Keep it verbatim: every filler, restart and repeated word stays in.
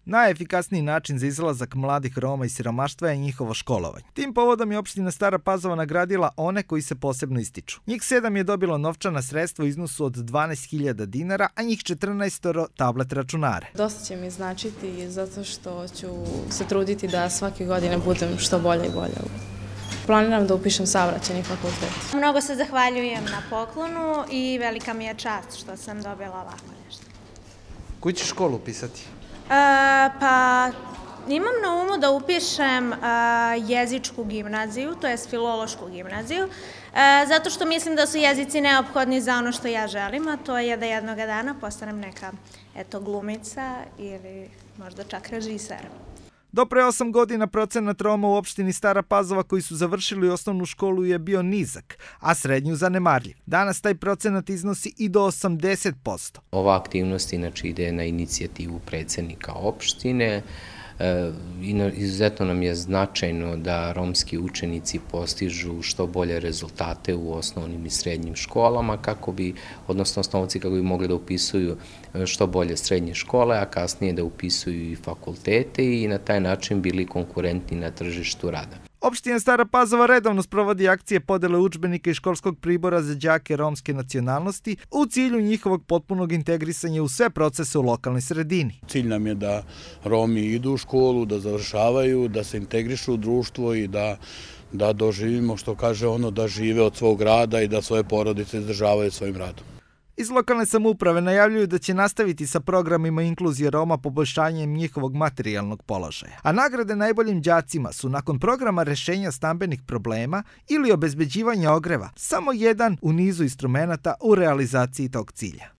Najefikasniji način za izlazak mladih Roma iz siromaštva je njihovo školovanje. Tim povodom je opština Stara Pazova nagradila one koji se posebno ističu. Njih sedam je dobilo novčana sredstva u iznosu od dvanaest hiljada dinara, a njih četrnaest tablet računare. Dosta će mi značiti zato što ću se truditi da svake godine budem što bolje i bolje. Planiram da upišem saobraćajni fakultet. Mnogo se zahvaljujem na poklonu i velika mi je čast što sam dobila ovako nešto. Koju ćeš školu upisati? E, pa imam na umu da upišem e, jezičku gimnaziju, to je filološku gimnaziju, e, zato što mislim da su jezici neophodni za ono što ja želim, a to je da jednog dana postanem neka eto, glumica ili možda čak režiser. Do pre osam godina procenat Roma u opštini Stara Pazova koji su završili osnovnu školu je bio nizak, a srednju zanemarljiv. Danas taj procenat iznosi i do osamdeset posto. Ova aktivnost inače ide na inicijativu predsednika opštine. Izuzetno nam je značajno da romski učenici postižu što bolje rezultate u osnovnim i srednjim školama, kako bi, odnosno osnovci kako bi mogli da upisuju što bolje srednje škole, a kasnije da upisuju i fakultete i na taj način bili konkurentni na tržištu rada. Opština Stara Pazova redovno sprovodi akcije podele udžbenika i školskog pribora za đake romske nacionalnosti u cilju njihovog potpunog integrisanja u sve procese u lokalnoj sredini. Cilj nam je da Romi idu u školu, da završavaju, da se integrišu u društvo i da, da doživimo, što kaže ono, da žive od svog rada i da svoje porodice izdržavaju svojim radom. Iz lokalne samouprave najavljuju da će nastaviti sa programima inkluzije Roma poboljšanjem njihovog materijalnog položaja. A nagrade najboljim đacima su nakon programa rešenja stambenih problema ili obezbeđivanja ogreva samo jedan u nizu instrumenata u realizaciji tog cilja.